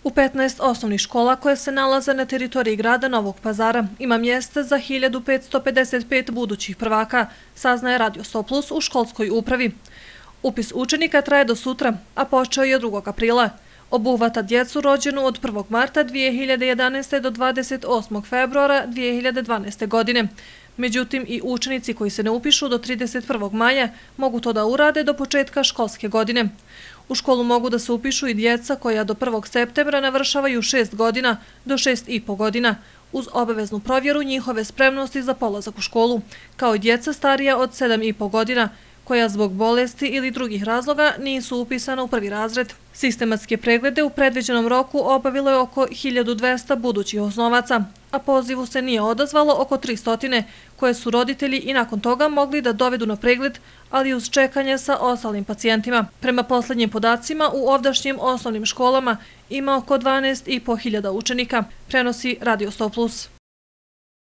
U 15 osnovnih škola koje se nalaze na teritoriji grada Novog Pazara ima mjesta za 1555 budućih prvaka, saznaje Radio 100 Plus u školskoj upravi. Upis učenika traje do sutra, a počeo je 2. aprila. Obuhvata djecu rođenu od 1. marta 2011. do 28. februara 2012. godine. Međutim, i učenici koji se ne upišu do 31. maja mogu to da urade do početka školske godine. U školu mogu da se upišu i djeca koja do 1. septembra navršavaju 6 godina do 6,5 godina, uz obaveznu provjeru njihove spremnosti za polazak u školu, kao i djeca starija od 7,5 godina, koja zbog bolesti ili drugih razloga nisu upisana u prvi razred. Sistematske preglede u predviđenom roku obavilo je oko 1200 budućih osnovaca, a pozivu se nije odazvalo oko 300, koje su roditelji i nakon toga mogli da dovedu na pregled, ali uz čekanje sa ostalim pacijentima. Prema poslednjim podacima, u ovdašnjim osnovnim školama ima oko 12,5 hiljada učenika, prenosi Radio 100 Plus.